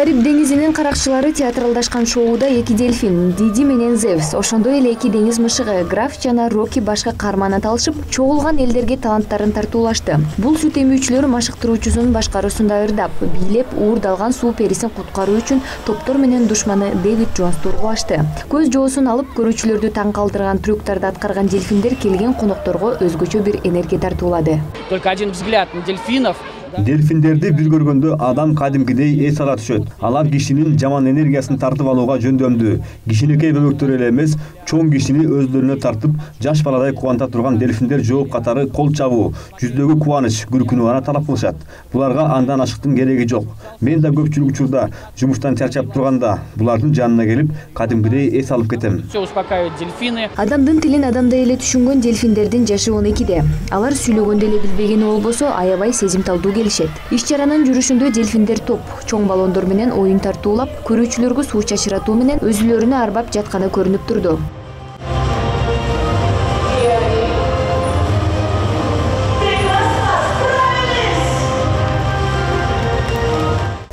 Кариб деңизинин каракчылары театралдашкан шоуда эки дельфин Диди менен Зевс, ошондой эле эки деңиз мышыгы Граф жана Рокки башка каарман аталышып, чогулган элдерге таланттарын тартуулашты. Бул сут эмүүчүлөр машыктыруучусунун башкаруусунда ырдап, бийлеп, уурдалган суу перисин куткаруу үчүн топтор менен душманы Дэвид Джонсту ургулашты. Көз жоосун алып көрүүчүлөрдү таң калтырган трюктарды аткарган дельфиндер келген конокторго өзгөчө бир энергия тартуулады. Только один взгляд на дельфинов. Дельфиндерди бир көргөндө адам кадимкидей эс ала түшөт. Алар кишинин жаман энергиясын тартып алууга жөндөмдүү. Кичинекей бөлөктөр эле эмес, чоң кишини өзлөрүнө тартып, жаш баладай кубанта турган дельфиндер жооп катары кол чабуу, жүздөгү кубаныч, күркүнүү гана талап кылышат. Буларга андан ашыктын кереги жок. Мен да көпчүлүк учурда жумуштан чарчап турганда булардын жанына келип, кадимкидей эс алып кетем. Все успокаивают дельфины. Адамдын тилин адамдай эле түшүнгөн дельфиндердин жашы 12-де. Алар сүйлөгөндө эле билбегени болбосо, аябай сезимталдуу келишет. Иш-чаранын жүрүшүндө дельфиндер топ, чоң баллондор менен оюн тартуулап, көрүүчүлөргө суу чачыратуу менен өзүлөрүнө арбап жатканы көрүнүп турду.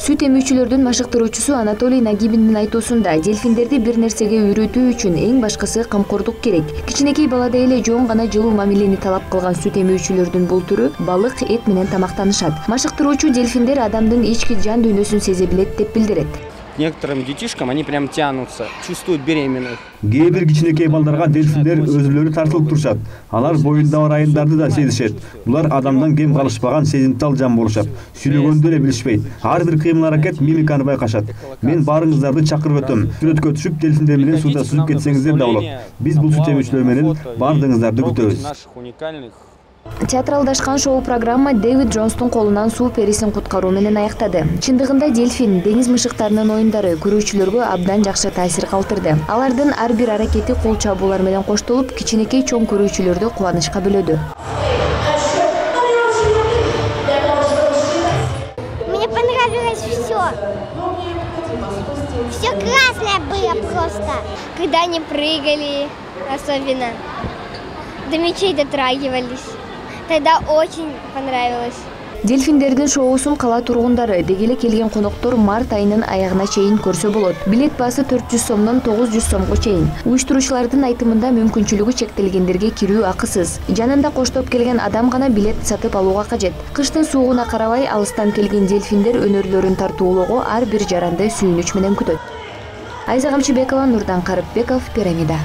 Сүт эмүүчүлөрдүн машыктыруучусу Анатолий Нагибиндин айтуусунда, дельфиндерди бир нерсеге үйрөтүү үчүн эң башкысы камкордук керек. Кичинекей баладай эле жоң гана жылуу мамилени талап кылган сүт эмүүчүлөрдүн бул түрү балык, эт менен тамактанышат. Машыктыруучу дельфиндер адамдын ички жан дүйнөсүн сезе билет деп билдирет. Некоторым детишкам они прям тянутся, чувствуют беременных. Кээ бир кичинекей балдарга дельфиндер өзүлөрү тартылып турушат. Алар боюнда бар айындарды да сезишет. Булар адамдан кем калышпаган сезимтал жан болушат. Сүйлөгөндө эле билишпейт. Ар бир кыймыл-аракет мимиканы байкашат. Мен баарыңыздарды чакырып өтөм. Сүрөткө түшүп, дельфиндер менен суда сүзүп кетсеңиздер да болот. Биз бул сүт эмүүчүлөр менен баардыгыңыздарды күтөбүз. Театралдашкан шоу программа Дэвид Джонстун колунан суу перисин куткаруу менен аяктады. Чындыгында дельфин, деңиз мышыктарынын оюндары көрүүчүлөргө абдан жакшы таасир калтырды. Алардын ар бир аракети кол чабуулар менен коштолуп, кичинекей чоң көрүүчүлөрдү кубанычка бөлөдү. Мне понравилось все. Все классное было просто. Когда они прыгали, особенно, до мечей дотрагивались. Тогда очень понравилось. Дельфиндердин шоусун кала тургундары, деги эле келген коноктор март айынын аягына чейин көрсө болот. Билет баасы 400 сомдон 900 сомго чейин. Уюштуруучулардын айтымында мүмкүнчүлүгү чектелгендерге кирүү акысыз. Жанында коштоп келген адам гана билет сатып алууга кажет. Кыштын суугуна карабай алыстан келген дельфиндер өнөрлөрүн тартуулоого ар бир жаранды сүйүнүч менен күтөт. Айза Камчыбекова, Нурдан Карыпбеков, Пирамида.